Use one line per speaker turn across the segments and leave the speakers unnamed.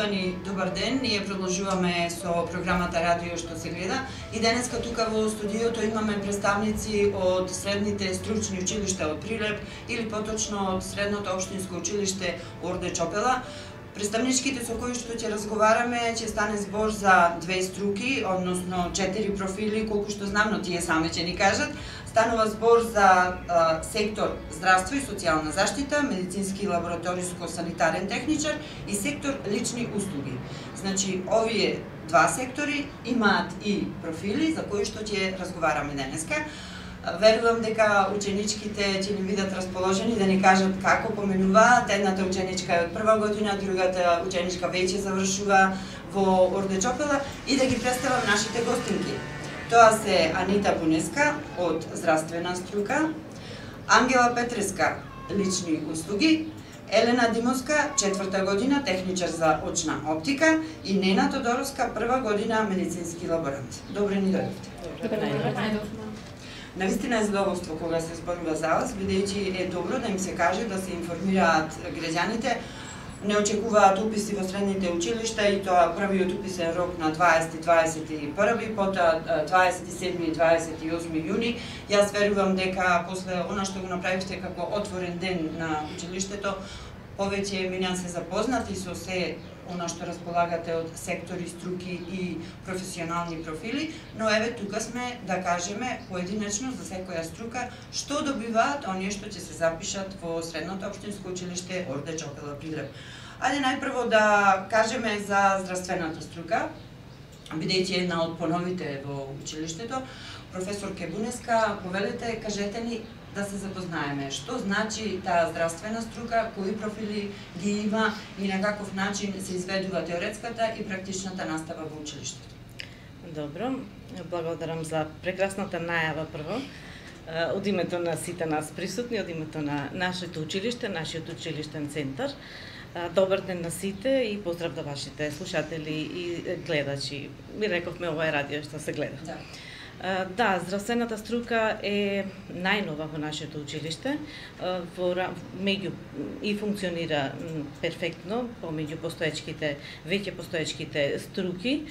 Почитувани, добар ден. Ние продолжуваме со програмата Радио што се гледа и денеска тука во студиото имаме представници од средните стручни училишта од Прилеп или поточно од средното општинско училиште Орде Чопела. Представничките со кои што ќе разговараме ќе стане збор за две струки, односно 4 профили, колку што знам, но тие сами ќе ни кажат. Станува збор за сектор здравство и социјална заштита, медицински и лабораториско-санитарен техничар и сектор лични услуги. Значи, овие два сектори имаат и профили за кои што ќе разговараме денеска. Верувам дека ученичките ќе ни бидат расположени да ни кажат како поменуваат. Едната ученичка е од прва година, другата ученичка веќе завршува во Орде Чопела и да ги представам нашите гостинки. Тоа се Анита Бунеска од здравствена струка, Ангела Петреска лични услуги, Елена Димовска 4-та година техничар за очна оптика и Нена Тодоровска 1-ва година медицински лаборант. Добре ни дојдовте.
Добре.
Навистина е задоволство кога се зборува за вас, бидејќи е добро да им се каже да се информираат граѓаните. Не очекуваат уписи во средните училишта и тоа првиот уписен рок на 20-21, потоа 27 и 28 јуни. Јас верувам дека после она што го направивте како отворен ден на училиштето, повеќе минеа се запознати со се она што располагате од сектори, струки и професионални профили, но еве тука сме да кажеме поединечно за секоја струка што добиваат оние што ќе се запишат во средното општинско училиште Орде Чопела Прилеп. Ајде најпрво да кажеме за здравствената струка, бидејќи една од поновите во училиштето. Професор Бунеска, повелете, кажете ни да се запознаеме. Што значи таа здравствена струка, кои профили ги има и на каков начин се изведува теоретската и практичната настава во училиштето?
Добро, благодарам за прекрасната најава прво. Од името на сите нас присутни, од името на нашето училиште, нашиот училиштен центар. Добар ден на сите и поздрав до вашите слушатели и гледачи. Ми рековме ова е радио што се гледа.
Да.
Да, здравствената струка е најнова во нашето училиште, и функционира перфектно помеѓу веќе постоечките струки.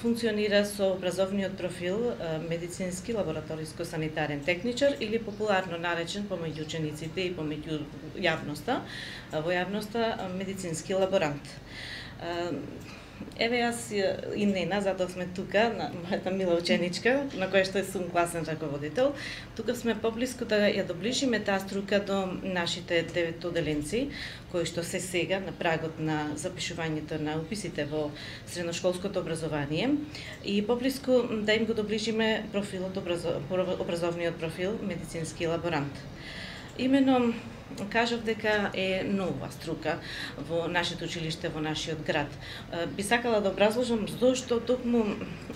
Функционира со образовниот профил медицински лабораториско-санитарен техничар или популарно наречен помеѓу учениците и помеѓу јавноста, во јавноста медицински лаборант. Еве јас и Нена, затоа сме тука, на мојата мила ученичка, на која што сум класен раководител. Тука сме поблиску да ја доближиме таа струка до нашите 9 оделенци, кои што се сега на прагот на запишувањето на уписите во средношколското образование и поблиску да им го доближиме образовниот профил медицински лаборант. Имено кажав дека е нова струка во нашето училиште, во нашиот град. Би сакала да образложам зошто токму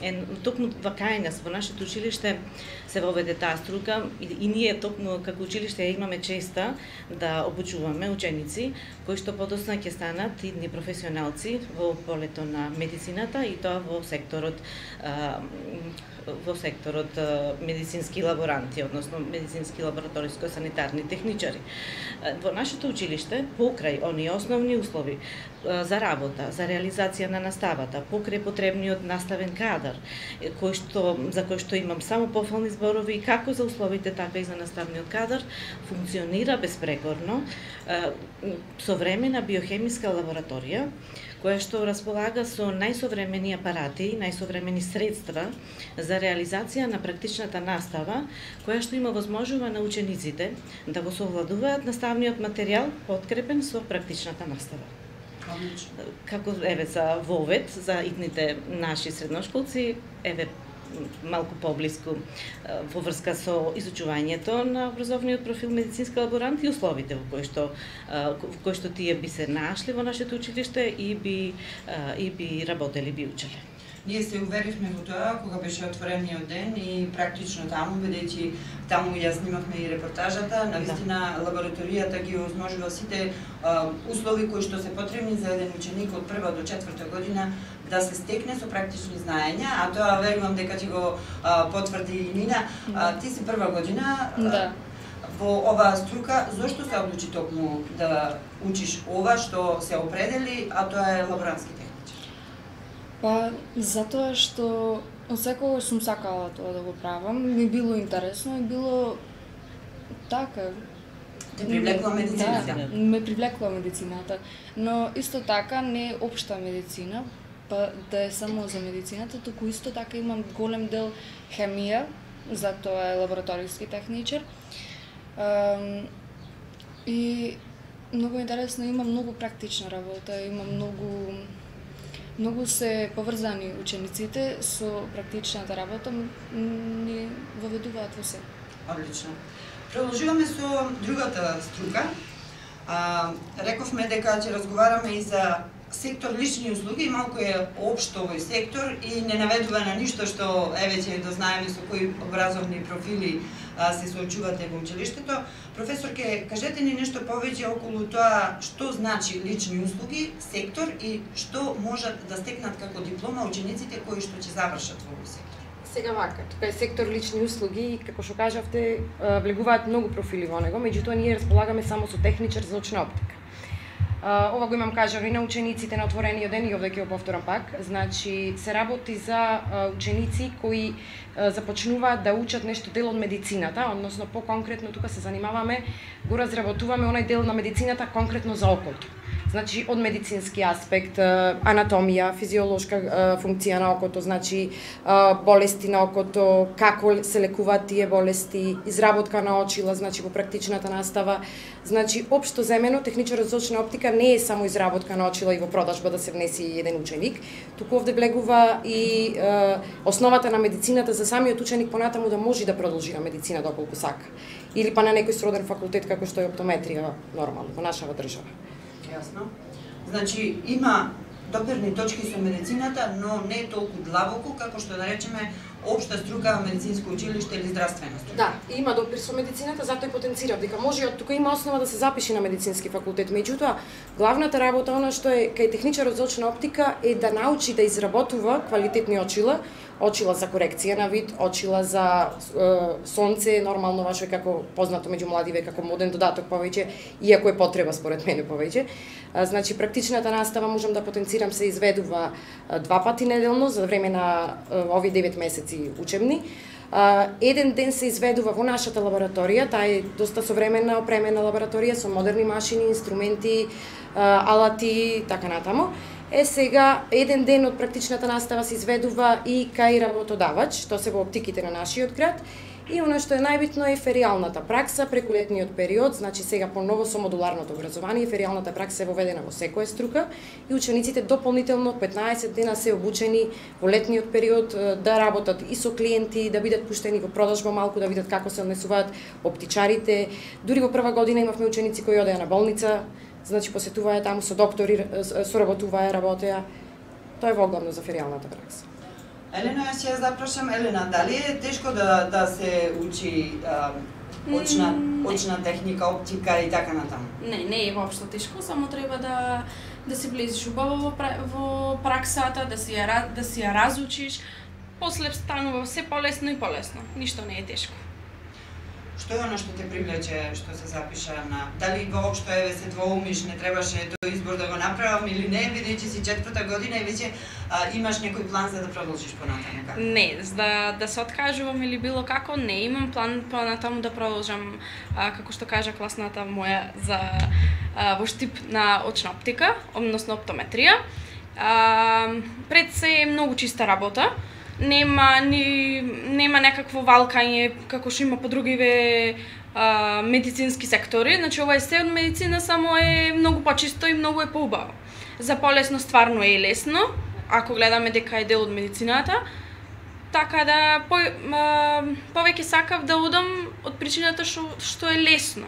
кај нас во нашето училиште се воведе таа струка и ние токму како училиште имаме честа да обучуваме ученици кои што подоцна ќе станат идни професионалци во полето на медицината и тоа во секторот медицински лаборанти, односно медицински лабораториско-санитарни техничари. Во нашето училиште, покрај оние основни услови за работа, за реализација на наставата, покрај потребниот наставен кадар, за кој што имам само пофални зборови, како за условите, така и за наставниот кадар, функционира безпрекорно современа биохемиска лабораторија, која што располага со најсовремени апарати, најсовремени средства за реализација на практичната настава, која што има возможува на учениците да го совладуваат наставниот материјал подкрепен со практичната настава. Како еве за вовед, за идните наши средношколци, еве малку поблиску во врска со изучувањето на образовниот профил медицински лаборант и условите во кои што тие би се нашли во нашето училиште и би работели, би учеле.
Ние се уверивме во тоа кога беше отворениот ден и практично таму, бидејќи таму ја снимавме и репортажата, навистина лабораторијата ги овозможува сите услови кои што се потребни за еден ученик од 1 до 4 година да се стекне со практични знаења, а тоа верувам дека ќе го потврди и Нина. Ти си 1 година.
Да.
во оваа струка, зошто се одлучи токму да учиш ова што се определи, а тоа е лаборантски техничар?
Па, затоа што од секогаш сум сакала тоа да го правам, ми било интересно и било така.
Те привлекла медицината?
Да, ме привлекла медицината, но исто така не општа медицина, па да е само за медицината, туку исто така имам голем дел хемија, затоа е лабораториски техничар. И многу интересно, има многу практична работа, има многу се поврзани учениците со практичната работа, ни воведуваат во се.
Одлично. Продолжуваме со другата струка. Рековме дека ќе разговараме и за сектор лични услуги, малку е општо овој сектор и не наведува на ништо што веќе да знаеме со кои образовни профили се соочувате во училиштето. Професорке, кажете ни нешто повеќе околу тоа што значи лични услуги, сектор и што можат да стекнат како диплома учениците кои што ќе завршат во овој сектор.
Сега вака, тука е сектор лични услуги и како што кажавте, влегуваат многу профили во него, меѓутоа ние располагаме само со техничар за очна оптика. Ова го имам кажано и на учениците на отворениот ден и овде ќе го повторам пак. Значи, се работи за ученици кои започнуваат да учат нешто дел од медицината, односно по-конкретно тука се занимаваме, го разработуваме онај дел на медицината конкретно за окото. Значи, од медицински аспект, анатомија, физиолошка функција на окото, значи болести на окото, како се лекуваат тие болести, изработка на очила, значи по практичната настава. Значи, општо земено, техничарот за очна оптика не е само изработка на очила и во продажба да се внеси еден ученик, туку овде влегува и основата на медицината за самиот ученик понатаму да може да продолжи на медицина доколку сака. Или па на некој сроден факултет како што е оптометрија нормално во нашава држава.
Јасно. Значи, има допирни точки со медицината, но не толку длабоко како што да речеме општа струка медицинско училиште или здравствена струка.
Да, има допир со медицината, затоа и потенцирав дека може од тука има основа да се запише на медицински факултет. Меѓутоа, главната работа она што е кај техничарот за очна оптика е да научи да изработува квалитетни очила, очила за корекција на вид, очила за сонце, нормално ваше како познато меѓу младиве како моден додаток повеќе, иако е потреба според мене повеќе. Значи практичната настава можам да потенцирам се изведува 2 пати неделно за време на овие 9 месеци учебни. Еден ден се изведува во нашата лабораторија, таа е доста современа, опремена лабораторија со модерни машини, инструменти, алати, така натаму. Сега, еден ден од практичната настава се изведува и кај работодавач, тоа се во оптиките на нашиот град, и она што е најбитно е феријалната пракса преку летниот период, значи сега поново со модуларното образование, феријалната пракса е воведена во секоја струка и учениците дополнително 15 дена се обучени во летниот период да работат и со клиенти, да бидат пуштени во продажба малку, да видат како се однесуваат оптичарите. Дури во прва година имавме ученици кои одеа на болница, значи посетуваа таму со доктори, соработуваа, работеа. Тоа е воглавно за феријалната пракса.
Елена, јас ќе ја запрашам, Елена, дали е тешко да се учи очна техника, оптика и така натаму?
Не е воопшто тешко, само треба да се влезеш убаво во праксата, да си ја разучиш, после станува се полесно и полесно. Ништо не е тешко.
Што е оно што те привлече, што се запиша на... Дали воопшто се двоумиш, не требаше тој избор да го направам или не, бидејќи си 4-та година и веќе имаш некој план за да продолжиш понатаму? Како?
Не, за да се откажувам или било како, не имам план понатаму да продолжам, како што кажа класната моја, во штип на очна оптика, односно оптометрија. Пред се е многу чиста работа. Нема некакво валкање како што има по другиве медицински сектори. Значи ова е се од медицина, само е многу почисто и многу е поубаво. За полесно стварно е лесно, ако гледаме дека е дел од медицината. Така да повеќе сакав да одам од причината што е лесно.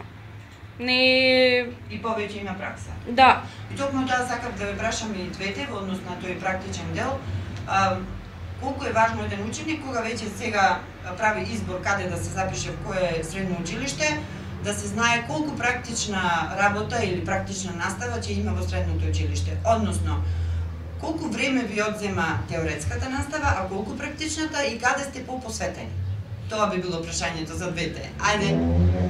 Не
и повеќе има пракса.
Да.
И токму тоа сакав да ве прашам и двете во однос на тој практичен дел. Колку е важно еден ученик кога веќе сега прави избор каде да се запише во кое средно училиште, да се знае колку практична работа или практична настава ќе има во средното училиште. Односно, колку време ви одзема теоретската настава, а колку практичната и каде сте попосветени? Тоа би било прашањето за двете. Ајде,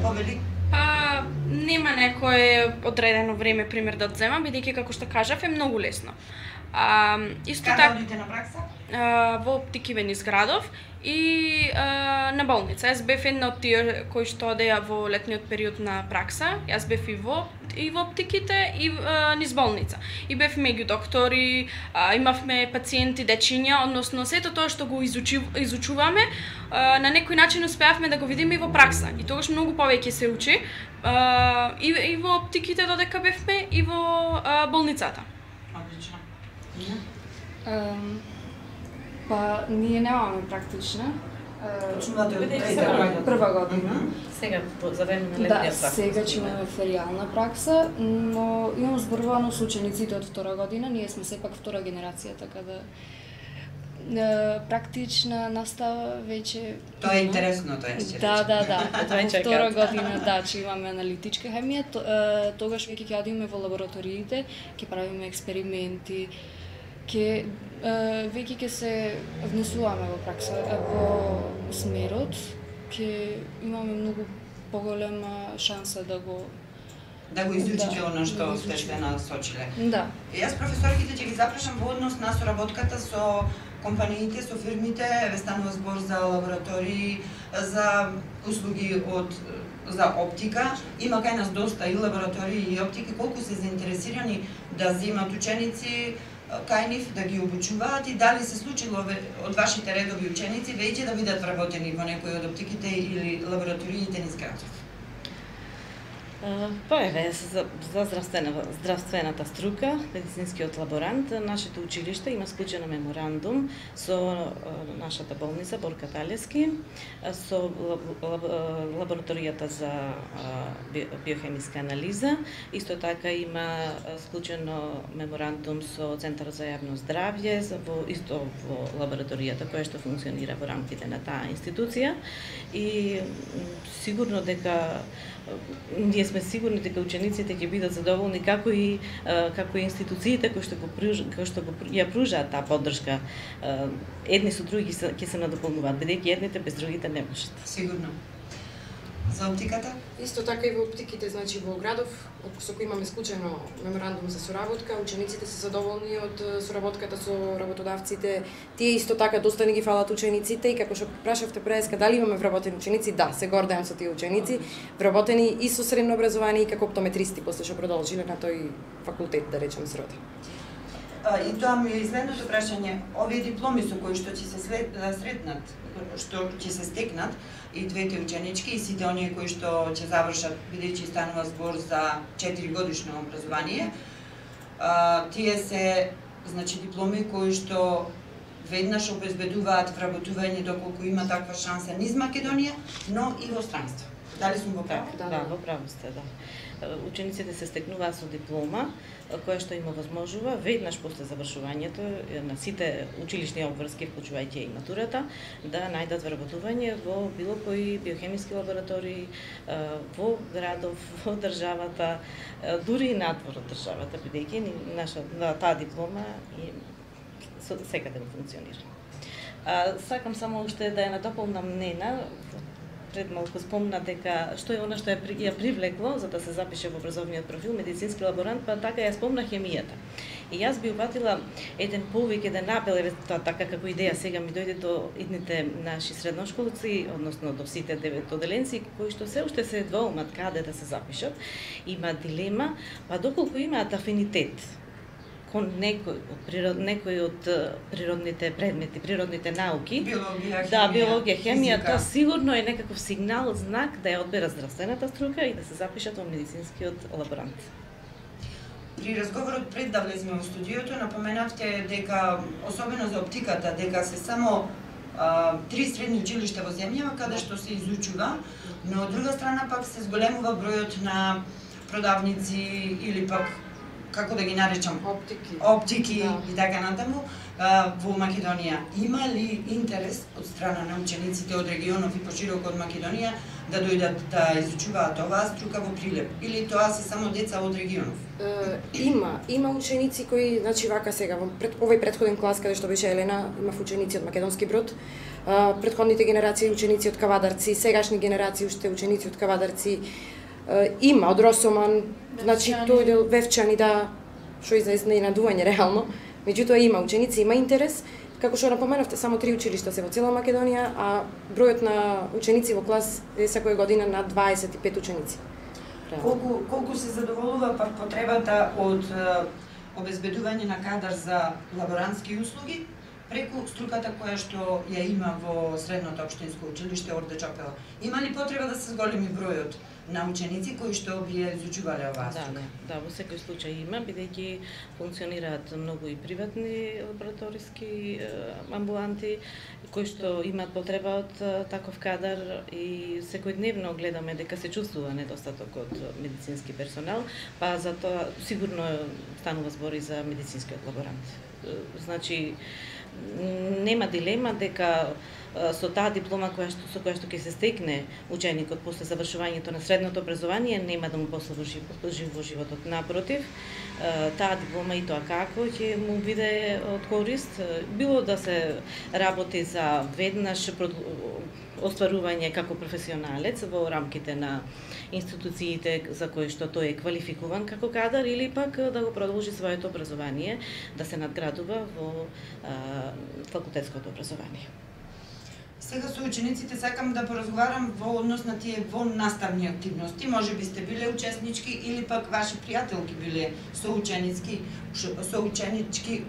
повели.
Па, нема некое одредено време пример да одземам, бидејќи како што кажав е многу лесно. Исто
Каде одите на пракса?
Во Оптики Вен изградов и на болница. Јас бев една од тие кои што одеа во летниот период на пракса. Јас бев и во оптиките и низ болница. И бев меѓу доктори, имавме пациенти, дечиња, односно сето тоа што го изучуваме, на некој начин успеавме да го видиме и во пракса. И тогаш многу повеќе се учи. И во оптиките додека бевме и во болницата.
Одлично.
Па, ние немаме практична.
Почнувате од
прва година.
Сега за време на летниот
Да,
пракса.
сега ќе имаме феријална пракса, но имам зборувано со учениците од втора година, ние сме сепак втора генерација, така да практична настава веќе...
Тоа е интересно, тоа ќе
Да.
Тоа е
Во втора
чекат.
година, да, ќе имаме аналитичка хемија, тогаш веќе ќе одиме во лабораториите, ќе правиме експерименти, веќе ќе се внесуваме во пракса, во смерот, ќе имаме многу поголема шанса да го
изучите она што сте насочиле.
Да.
Јас професорките ќе ги запрашам во однос на соработката со компаниите, со фирмите, еве станува збор за лаборатории, за услуги за оптика. Има кај нас доста и лаборатории и оптики, колку се заинтересирани да земат ученици кај нив, да ги обучуваат и дали се случило од вашите редови ученици веќе да бидат вработени во некој од оптиките или лабораториите низ градов?
Па еве, за здравствената струка, медицинскиот лаборант, нашето училиште има склучено меморандум со нашата болница Борка Талевски, со лабораторијата за биохемиска анализа. Исто така има склучено меморандум со Центарот за јавно здравје, исто во лабораторијата која што функционира во рамките на таа институција. И сигурно дека ние сме сигурни дека учениците ќе бидат задоволни како и институциите кои што ја пружаат таа поддршка. Едни со други ќе се надополнуваат, бидејќи едните без другите не можат.
Сигурно. За оптиката?
Исто така и во оптиките, значи во градов, со кој имаме склучено меморандум за соработка, учениците се задоволни од соработката со работодавците. Тие исто така доста ни ги фалат учениците и како што прашавте преска дали имаме вработени ученици, да, се гордеам со тие ученици, вработени и со средно образование и како оптометристи после што продолжиле на тој факултет, да речем, срода.
И тоа ми е следното прашање. Овие дипломи со кои што ќе се сретнат, што ќе се стекнат, и двете ученички и сите оние кои што ќе завршат, бидејќи станува збор за 4-годишно образование, тие се, значи, дипломи кои што веднаш обезбедуваат вработување доколку има таква шанса низ Македонија, но и во странство. Дали сум во право?
Да, во право сте, да. Учениците се стекнуваат со диплома, која што им овозможува веднаш после завршувањето на сите училишни обврски, вклучувајќи и матурата, да најдат вработување во било кои биохемиски лаборатории, во градов, во државата, дури и надвор од државата, бидејќи таа диплома и секаде функционира. Сакам само уште да ја надополнам Нена. Пред малку спомна дека што е она што ја привлекло за да се запише во образовниот профил медицински лаборант, па така ја спомна хемијата. И јас би упатила еден повеќе апел, тоа така како идеја сега ми дојде до идните наши средношколци, односно до сите 9 оделенци кои што се уште се двоумат каде да се запишат, има дилема, па доколку имаат афинитет кон некој од природните предмети, природните науки,
Биологија,
да, биологија, хемија,
физика.
тоа сигурно е некаков сигнал, знак да ја одберат здравствената струка и да се запишат во медицинскиот лаборант.
При разговорот пред да влеземе во студиото, напоменавте дека, особено за оптиката, дека се само 3 средни училишта во земјава каде што се изучува, но од друга страна пак се зголемува бројот на продавници или пак како да ги наречам, оптики и така натаму во Македонија. Има ли интерес од страна на учениците од регионов и пошироко од Македонија да дојдат да изучуваат оваа струка во Прилеп? Или тоа се само деца од регионов?
Има ученици кои, значи вака сега, во овој претходен клас каде што беше Елена, имав ученици од Македонски Брод, Претходните генерации ученици од Кавадарци, сегашни генерации уште ученици од Кавадарци, има од Росоман, значи тој дел Вевчани, да, што и за изненадување реално. Меѓутоа има ученици, има интерес. Како што напоменавте, само 3 училишта се во цела Македонија, а бројот на ученици во клас е секоја година над 25 ученици.
Колку се задоволува пак потребата од обезбедување на кадар за лаборантски услуги преку струката која што ја има во средното општинско училиште Орде Чопела? Има ли потреба да се зголеми бројот на ученици кои што би ја изучувале оваа струка?
Да, во секој случај има, бидејќи функционираат многу и приватни лабораториски амбуланти кои што имаат потреба од таков кадар и секојдневно гледаме дека се чувствува недостаток од медицински персонал, па затоа сигурно станува збор и за медицинскиот лаборант. Значи, нема дилема дека со таа диплома со која што ќе се стекне ученикот после завршувањето на средното образование нема да му послужи во животот. Напротив, таа диплома и тоа како ќе му биде од корист, било да се работи за веднаш остварување како професионалец во рамките на институциите за кои што тој е квалификуван како кадар или пак да го продолжи своето образование, да се надградува во факултетското образование.
Сега со учениците сакам да поразговарам во однос на тие воннаставни активности. Може би сте биле учеснички или пак ваши пријателки биле соученички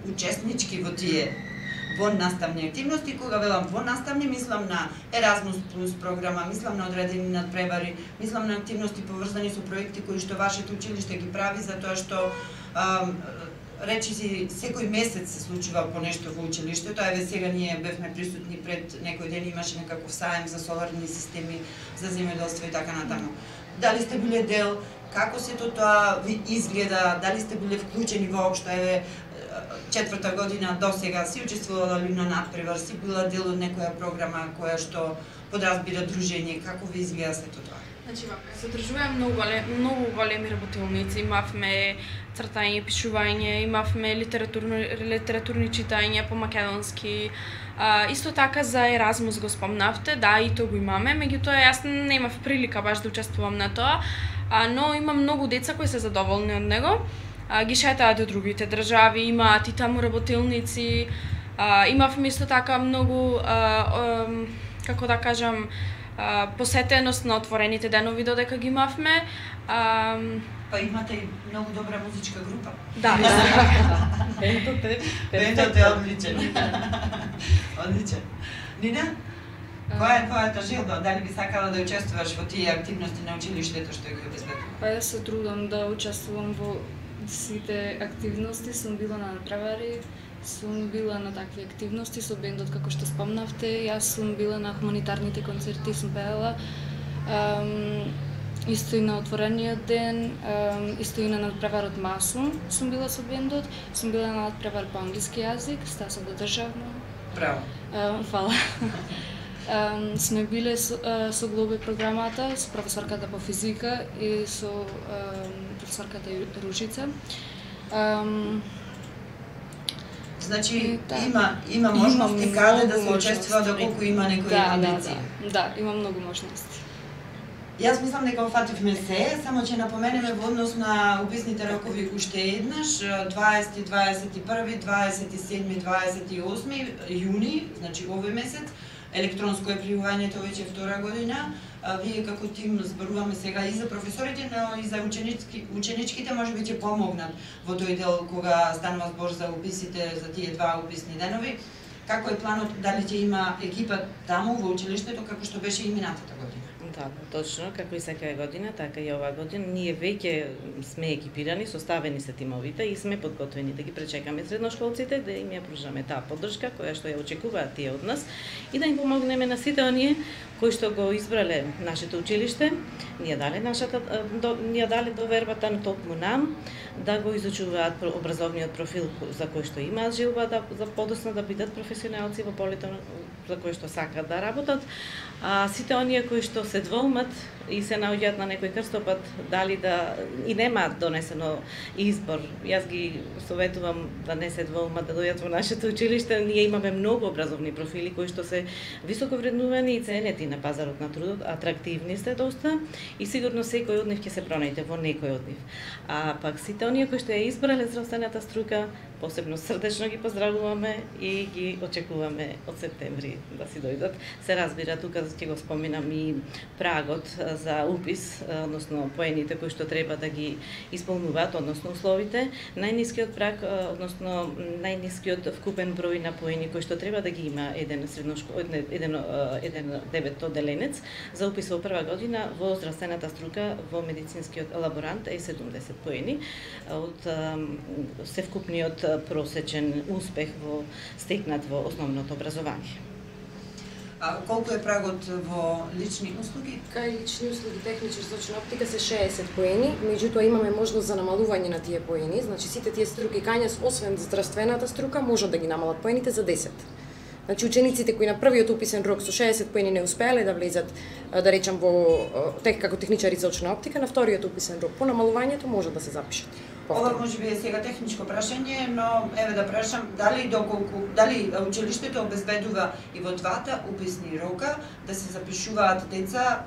учеснички во тие воннаставни активности. Кога велам воннаставни, мислам на Еразмус плюс програма, мислам на одредени надпревари, мислам на активности поврзани со проекти кои што вашето училиште ги прави, затоа што речиси секој месец се случува по нешто во училиштето. Еве сега ние бевме присутни пред некој ден, имаше некаков саем за соларни системи, за земјоделство и така натаму. Дали сте биле дел, како сето тоа ви изгледа, дали сте биле вклучени воопшто, еве 4-та година до сега си учествувала на надпревар, си била дел од некоја програма која што подразбира дружење, како ви изгледа сето тоа?
Значи, се одржуваа многу големи работилници, имавме цртање, пишување, имавме литературни читања по македонски. Исто така за Еразмус го спомнавте, да, и тоа го имаме, меѓутоа јас немав прилика баш да учествувам на тоа, но има многу деца кои се задоволни од него. Ги шетаат до другите држави, имаат и таму работилници, имавме исто така многу, како да кажам, посетеност на отворените денови додека ги имавме.
Па имате и многу добра музичка група.
Да.
Бендот е одличен. Одличен. Нина, која е твојата желба? Дали би сакала да учествуваш во тие активности на училиштето што ги обезбедува?
Па јас се трудам да учествувам во сите активности, сум била на надпревари, сум била на такви активности со бендот како што спомнавте, јас сум била на хуманитарните концерти, сум пеела, исто и на отворениот ден, исто и на надпреварот Масум сум била со бендот, сум била на надпревар по англиски јазик, стаса до државно.
Браво.
Фала. Сме биле со Глобе програмата, со професорката по физика и со професорката Ружица.
Значи има можности каде да се учествува доколку има некои амбиции.
Да, има многу можности.
Јас мислам дека офативме се, само ќе напоменеме во однос на уписните рокови уште еднаш, 20, 21, 27, 28 јуни, значи овој месец, електронско е пријувањето веќе втора година. Вие како тим зборуваме сега и за професорите, но и за ученичките може би ќе помогнат во тој дел кога станува збор за уписите, за тие два уписни денови. Како е планот, дали ќе има екипа таму во училиштето како што беше и минатата година?
Да, точно, како и секоја година, така и оваа година, ние веќе сме екипирани, составени се тимовите и сме подготвени да ги пречекаме средношколците, да им ја пружаме таа поддршка која што ја очекуваат тие од нас и да им помогнеме на сите оние кои што го избрале нашето училиште, ни ја дале довербата на токму нам да го изучуваат образовниот профил за кој што имаат желба да за подоцна да бидат професионалци во полето за кои што сакаат да работат, а сите оние кои што се двоумат и се наоѓаат на некој крстопат, дали да и немаат донесено избор. Јас ги советувам да не се двоумат, да дојдат во нашето училиште. Ние имаме многу образовни профили кои што се високо вреднувани и ценети на пазарот на трудот, атрактивни сте доста и сигурно секој од нив ќе се пронајде во некој од нив. А пак сите оние кои што ја избрале здравствената струка, посебно срдечно ги поздравуваме и ги очекуваме од септември да си дојдат. Се разбира, тука ќе го споминам и прагот за упис, односно поените кои што треба да ги исполнуваат, односно условите. Најнискиот праг, односно најнискиот вкупен број на поени кои што треба да ги има еден девет одделенец за упис во прва година во здравствената струка во медицинскиот лаборант е 70 поени од севкупниот просечен успех стекнат во основното образование.
А колку е прагот во лични услуги?
Кај лични услуги техничар за очна оптика се 60 поени, меѓутоа имаме можност за намалување на тие поени, значи сите тие струки кај нас освен здравствената струка можат да ги намалат поените за 10. Значи учениците кои на првиот уписен рок со 60 поени не успеале да влезат, да речам во како техничари за очна оптика, на вториот уписен рок по намалувањето можат да се запишат.
Ова може би е сега техничко прашање, но еве да прашам дали училиштето обезбедува и во двата уписни рока да се запишуваат деца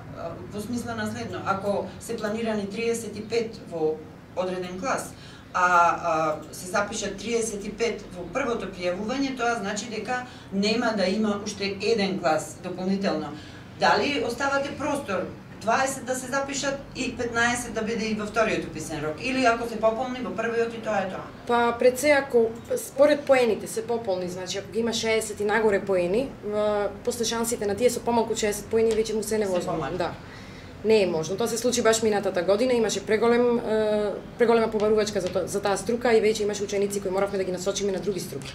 во смисла на следно. Ако се планирани 35 во одреден клас, а се запишат 35 во првото пријавување, тоа значи дека нема да има уште еден клас дополнително. Дали оставате простор 20 да се запишат и 15 да биде и во вториот уписен рок, или ако се пополни во првиот и тоа е тоа?
Па пред се ако според поените се пополни, значи ако ги има 60 и нагоре поени, после шансите на тие со помалку 60 поени веќе му се невозможно. Да. Не е можно. Тоа се случи баш минатата година, имаше преголема побарувачка за таа струка и веќе имаше ученици кои моравме да ги насочиме на други струки.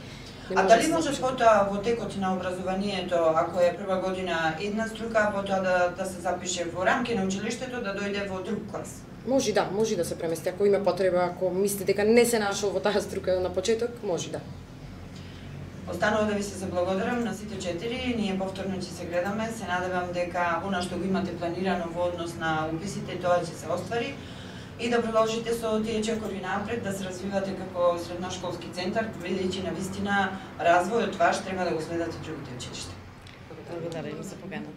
А дали може потоа во текот на образованието, ако е прва година една струка, потоа да се запише во рамки на училиштето, да дојде во друг клас?
Може да се премести, ако има потреба, ако мислите дека не се нашол во таа струка на почеток, може да.
Останува да ви се заблагодарам на сите 4, ние повторно ќе се гледаме, се надевам дека она што го имате планирано во однос на уписите, тоа ќе се оствари и да продолжите со тие чекори напред, да се развивате како средношколски центар, бидејќи на вистина развојот ваш треба да го следат и другите училишта.
Благодарам за поканата.